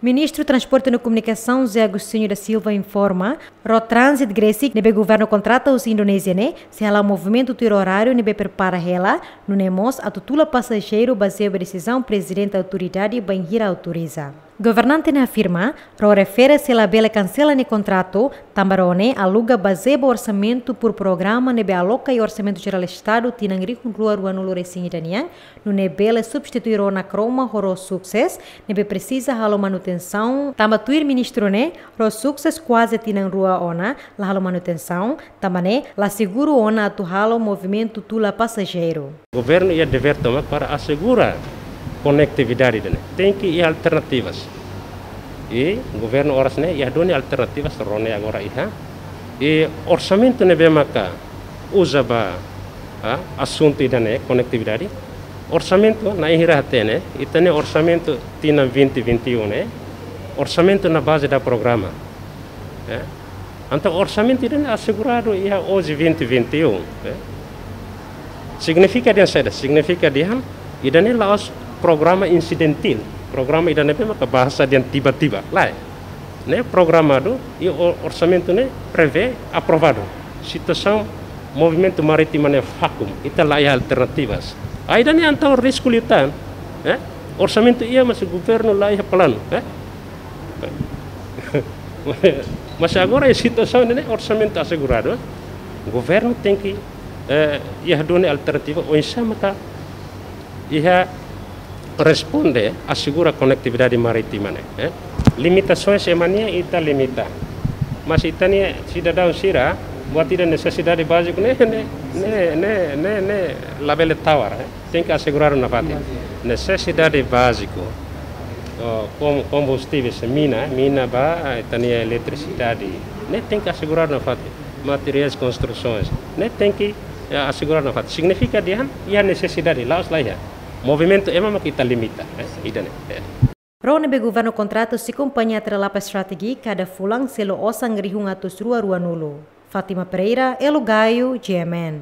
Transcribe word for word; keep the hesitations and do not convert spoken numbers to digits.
Ministru Transporte no Komunikasaun, José Agostinho da Silva, informa, Road Transit Gresik, ne'ebé governu kontrata husi Indonézia ne'e, sei hala'o movimentu tuir oráriu ne'ebé prepara hela, nune'e mós atu tula pasajeiru bazeia ba desizaun Prezidente Autoridade bainhira autoriza. Governante ne'e afirma, Road Ferry sei labele kansela nia kontratu, tanba Road ne'e aluga bazeia ba orsamentu por programa ne'ebé aloka iha Orsamentu Jerál Estadu tinan rihun rua ruanulu resin ida nian, nune'e bele substitui Road Nakroma ho Road Success, ne'ebé presiza halo manutensaun, tanba tuir ministru ne'e, Road Success kuaze tinan rua ona la halo manutensaun, tanba ne'e la seguru ona atu halo movimentu tula pasajeiru. Governu iha devér tomak para asegura konektividade ida-ne'e. Tenke iha alternativas. I governu oras ne'e iha duni alternativas, Road ne'e agora iha. I orsamentu ne'ebé maka uza ba, ah, asuntu ida-ne'e, konektividade. Orsamentu na'in hira hatene, ita-nia orsamentu tinan vinte vinte e um ne'e, orsamentu na baze da programa. Eh? Entaun orsamentu ida-ne'e aseguradu iha hoje vinte vinte e um, eh? Signifika dehan saida? Signifika dehan ida-ne'e la'ós programa insidentál. Programa ida-ne'ebé maka bahasa dehan tiba-tiba. Lae. Ne'e programadu i o-, orsamentu ne'e prevee aprovadu. Situasaun movimentu marítima ne'e vákuu, ita la iha alternativas. Ai dani entaun risku liután, eh? Orsamentu iha, mas governu la iha planu, eh? Mas agora iha situasaun ne'e orsamentu aseguradu, eh? Governu tenke, eh, iha duni alternativa, oinsá maka iha responde asegura konektividade marítima ne'e, eh? Limitasaun ema nian ita limita. Mas ita-nia sidadaun sira, buat ida nesesidade báziku ne'e, ne'e, ne'e, ne'e, ne'e, ne'e labele tawar, eh? Tenke aseguradu nafatin. Nesesidade báziku, oh, kom-, kombustíveis, mina, mina ba, ah, ita-nia eletrisidade. Ne'e tenke aseguradu nafatin. Materiais konstrusaun. Ne'e tenke, eh, aseguradu nafatin. Signifika dehan iha nesesidade, la'ós la iha. Movimentu ema mak ita limita, eh, ida-ne'e, eh. Road ne'ebé governu kontrata husi kompañia Atrelapa Strategic kada fulan selu osan rihun atus rua ruanulu. Fátima Pereira, Elo Gaio, G M N.